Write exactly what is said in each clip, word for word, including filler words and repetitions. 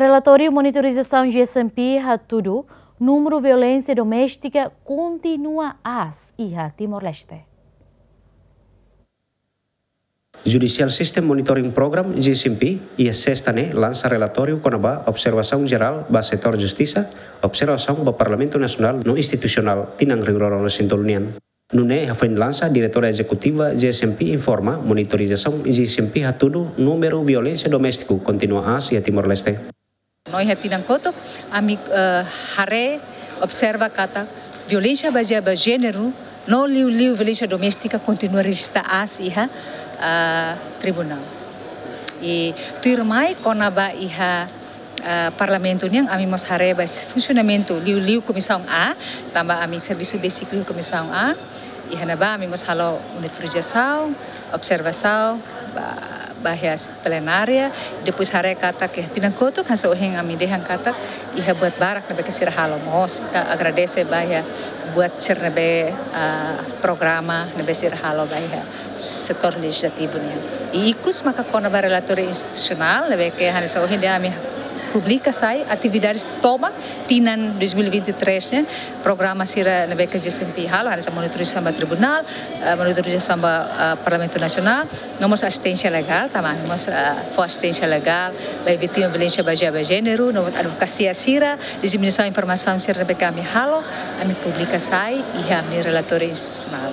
Relatóriu monitorizasaun G S M P hatudu númeru violénsia doméstika kontinua aas iha Timor-Leste. Judicial System Monitoring Program, G S M P, iha sesta ne'e lansa relatóriu kona-ba observasaun jerál ba setór justisa, observasaun ba Parlamentu Nasionál no institusionál tinan rihun rua ruanulu-resin-tolu nian. Nune'e hafoin lansa, Diretora Ezekutiva G S M P informa monitorizasaun G S M P hatudu númeru violénsia doméstiku kontinua aas iha Timor-Leste. No iha tinan kotuk, ami, eh, haree, observa katak violénsia bazeia ba jéneru no liuliu violénsia doméstika kontinua rejista aas iha, eh, tribunál. I tuirmai kona-ba iha, eh, Parlamentu nian, ami mós haree ba funsionamentu liuliu Komisaun A, tanba ami servisu besik liu Komisaun A. Iha ne'ebá ami mós halo monitorizasaun, observasaun ba, ba iha plenária, depois haree katak iha tinan kotuk hanesan ohin ami dehan katak iha buat barak ne'ebé ke sira halo mós. Ita agradese ba iha buat sira ne'ebé, ah, programa ne'ebé sira halo ba iha setór lejizlativu nian. I ikus maka kona-ba relatóriu institusionál ne'ebé ke hanesan ohin dehan ami publika sai atividades tomak tinan dois mil e vinte e três nian, programa sira ne'ebé ke G S M P halo, hanesan monitorizasaun ba tribunál, eh, monitorizasaun ba, eh, Parlamentu Nasionál, no mós asisténsia legál, tanba ami mós, eh, fó asisténsia legál ba vítima violénsia bazeia ba jéneru, no advokasia sira, diseminasaun informasaun sira ne'ebé ke ami halo, ami publika sai iha ami-nia relatóriu institusionál.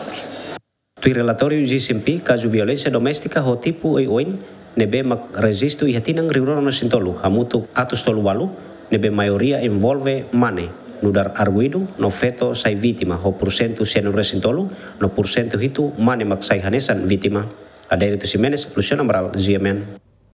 Tuir relatóriu G S M P, kazu violénsia doméstika ho tipu oioin ne'ebé mak rejistu iha tinan rihun rua ruanulu-resin-tolu hamutuk atus tolu walu, ne'ebé maioria envolve mane, nu'udar arguidu no feto sai vítima ho pursentu sianulu-resin-tolu, no pursentu hitu mane mak sai hanesan vítima. Adérito Ximenes, Luciano Amaral, G M N.